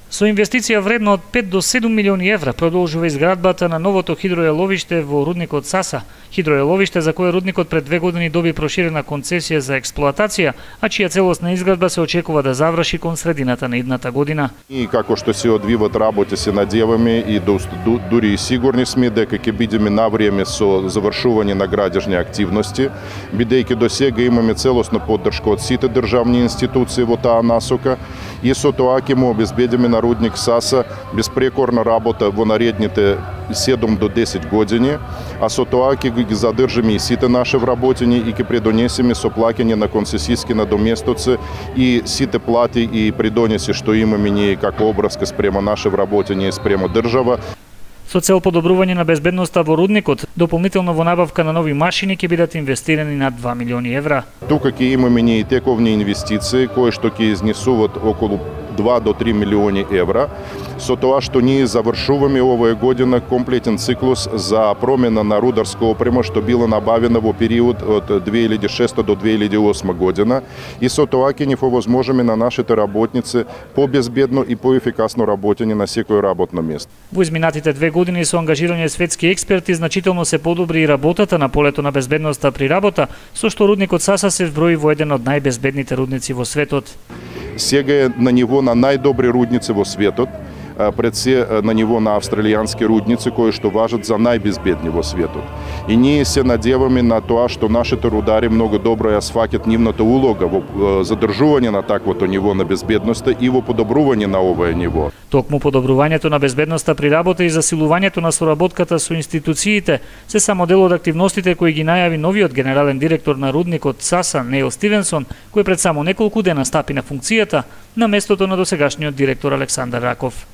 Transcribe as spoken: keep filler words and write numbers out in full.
Со инвестиција вредна од пет до седум милиони евра продолжува изградбата на новото хидроеловиште во рудникот Саса. Хидроеловиште за кое рудникот пред две години доби проширена концесија за експлоатација, а чија целосна изградба се очекува да заврши кон средината на идната година. И како што се одвиват работи, се надеваме и дури и сигурни сме дека ќе бидеме на време со завршување на градежни активности, бидејќи до сега имаме целосна поддршка од сите државни институции во таа насока и со тоа ќе му обезбедиме на рудник Саса безпрекорна работа во наредните седум до десет години, а со тоа ќе ги задржиме и сите наши вработени и ќе придонесеме со плаќање на концесиски надоместоци и сите плати и придонеси што имаме ние како обврска спрема наши вработени и спрема држава. Со цел подобрување на безбедноста во рудникот, дополнително во набавка на нови машини ќе бидат инвестирани над два милиони евра. Тука ќе имаме ние тековни инвестиции кои што ќе изнесуваат околу два до три милиони евра, со тоа што ние завршуваме оваа година комплетен циклус за промена на рударска опрема што била набавена во период од две илјади и шеста до две илјади и осма година и со тоа ќе ни овозможиме на нашите работници побезбедно и поефикасно работење на секој работно место. Во изминатите две години со ангажирање светски експерти значително се подобри и работата на полето на безбедноста при работа, со што рудникот Саса се вброи во еден од најбезбедните рудници во светот. Сега е на ниво на најдобри рудници во светот, пред се на ниво на австралијански рудници кои што важат за најбезбедни во светот. И ние се надеваме на тоа што нашите рудари многу добро ја сваќат нивната улога во задржување на таквото ниво на безбедноста и во подобрување на овое ниво. Токму подобрувањето на безбедноста при работа и засилувањето на соработката со институциите се само дел од активностите кои ги најави новиот генерален директор на рудникот Саса Неил Стивенсон, кој пред само неколку дена стапи на функцијата на местото на досегашниот директор Александар Раков.